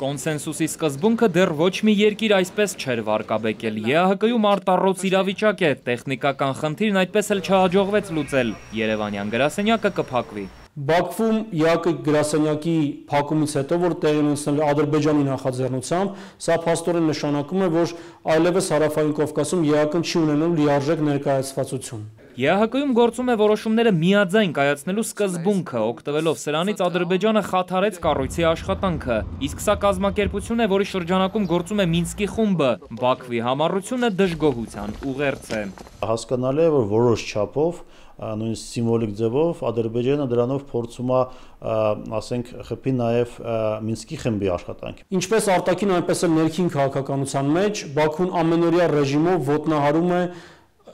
Կոնսենսուսի սկզբունքը դեռ ոչ մի երկիր այսպես չէր վարկաբեկել։ ԵԱՀԿ-ում արտառոց իրավիճակ է, տեխնիկական խնդիրն այդպես էլ չհաջողվեց լուծել։ Երևանյան գրասենյակը կփակվի։ Բաքվում ԵԱՀԿ գրասենյակի փակումից հետո, որ տեղի ունեցել Ադրբեջանի նախաձեռնությամբ, սա փաստորեն նշանակում է, որ այլևս Հարավային Կովկասում ԵԱՀԿ-ն չի ունենում լիարժեք ներկայացվածություն։ ԵԱՀԿ-ում գործում է որոշումները միաձայն կայացնելու սկզբունքը, օգտվելով սրանից Ադրբեջանը խաթարեց կառույցի աշխատանքը, իսկ սա կազմակերպություն է, որի շրջանակում գործում է Մինսկի խումբը, Բաքվի համառությունը դժգոհության ուղերձ է։ Հասկանալի է, որ որոշ չափով, նույնիսկ սիմվոլիկ ձևով Ադրբեջանը դրանով փորձում է, ասենք, խփի նաև Մինսկի խմբի աշխատանքը։ Ինչպես արտաքին, այնպես էլ ներքին քաղաքականության մեջ Բաքուն ամենօրյա ռեժիմով ոտնահարում է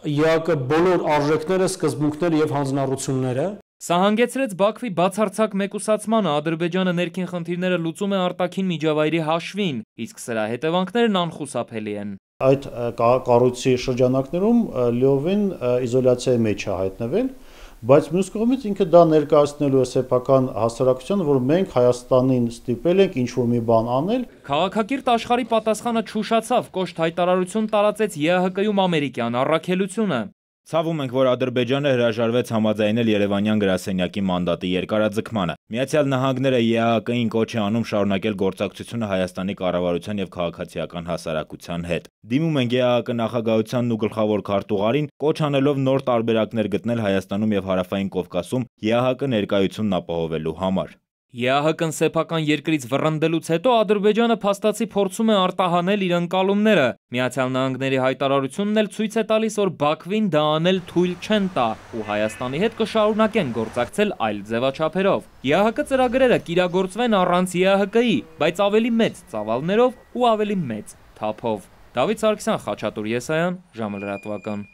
ԵԱՀԿ բոլոր արժեքները, սկզբունքները եւ հանձնառությունները։ Սա հանգեցրեց Բաքվի բացարձակ մեկուսացմանը, Ադրբեջանը ներքին խնդիրները լուծում է արտաքին միջավայրի հաշվին, իսկ սրա հետևանքներն անխուսափելի են։ Այդ կառույցի շրջանակներում լիովին իզոլյացիայի մեջ է հայտնվել, բայց մյուս կողմից ինքը դա ներկայացնելու է սեփական հասարակությանը, որ մենք Հայաստանին ստիպել ենք ինչ-որ մի բան անել։ Քաղաքակիրթ աշխարհի պատասխանը չուշացավ, կոշտ հայտարարություն տարածեց ԵԱՀԿ-ում ամերիկյան առաքելությունը։ Ցավում ենք, որ Ադրբեջանը հրաժարվեց համաձայնել Երևանյան գրասենյակի մանդատի երկարաձգմանը։ Միացյալ Նահանգները ԵԱՀԿ-ին կոչ է անում շարունակել գործակցությունը Հայաստանի կառավարության եւ քաղաքացիական հասարակության հետ։ Դիմում ենք ԵԱՀԿ նախագահությանն ու գլխավոր քարտուղարին, կոչ անելով նոր տարբերակներ գտնել Հայաստանում եւ Հարավային Կովկասում ԵԱՀԿ ներկայությունն ապահովելու համար։ ԵԱՀԿ-ն սեփական երկրից վռնդելուց հետո Ադրբեջանը փաստացի փորձում է արտահանել իր ընկալումները։ Միացյալ Նահանգների հայտարարությունն էլ ցույց է տալիս, որ Բաքվին դա անել թույլ չեն տա, ու Հայաստանի հետ կշարունակեն գործակցել այլ ձևաչափերով։ ԵԱՀԿ ծրագրերը կիրագործվեն առանց ԵԱՀԿ-ի, բայց ավելի մեծ ծավալներով ու ավելի մեծ թափով։ Դավիթ Սարգսյան, Խաչատուր Եսայան, ժամը լրատվական։